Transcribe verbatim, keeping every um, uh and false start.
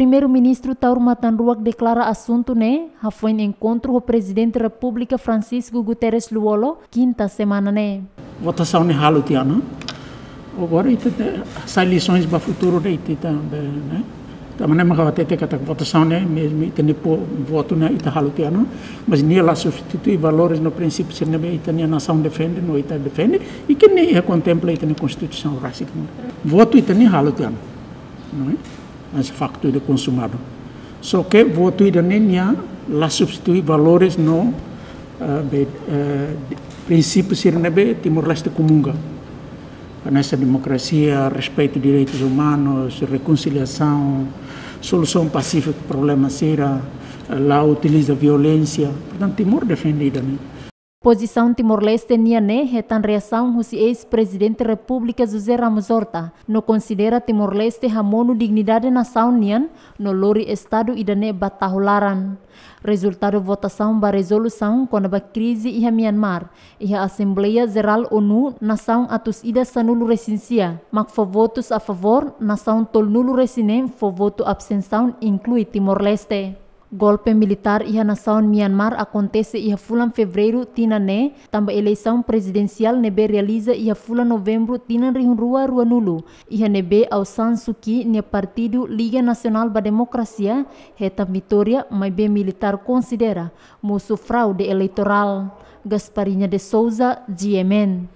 Primeiru-Ministru Taur Matan Ruak deklara asuntu ne'e hafoin enkontru ho Prezidente Repúblika Francisco Guterres Lú-Olo, kinta semana ne'e. Votasaun ne'e halo tiha ona. Agora ita te, sai lisaun ba futuru ida ita, ita, ne'e? Tanba ne'e mak ha'u hatete katak votasaun ne'e, mezmu ita-nia votu ne'e ita halo tiha ona, mas nia la substitui valores no prinsípiu sira ne'ebé ita-nia nasaun defende, no ita defende, i ke ne'e kontempla ita-nia Konstituisaun rasik. Votu ita-nia halo tiha ona, não é? Mas faktu ida konsumadu. Só ke votu ida-ne'e nia la substitui valores no, eh, be, eh, prinsípiu sira ne'ebé Timor-Leste komunga. Hanesan demokrasia, respeitu direitus umanus, rekonsiliasaun, solusaun pasífika problema sira, eh, la utiliza violénsia. Portantu, Timor defende ida-ne'e. Pozisaun Timor-Leste nian ne'e hetan reasaun husi eis-Prezidente Repúblika José Ramos Horta, no konsidera Timor-Leste hamonu dignidade nasaun nian, no lori Estadu ida-ne'e ba tahu laran. Rezultadu votasaun ba rezolusaun kona-ba krize iha Myanmar, iha Asembleia Jerál ONU, nasaun atus ida sanulu-resin-sia mak fó votus a favór, nasaun tolunulu-resin-neen fó votu abstensaun, inklui Timor-Leste. Golpe militár iha nasaun Myanmar akontese iha fulan Fevereiru tinan ne'e, tanba eleisaun prezidensiál ne'ebé realiza iha fulan Novembru tinan rihun rua ruanulu, iha ne'ebé Aung San Suu Kyi nia partidu Liga Nasionál ba Demokrasia hetan vitória, maibé militár konsidera mosu fraude eleitorál. Gasparinha de Souza, G M N.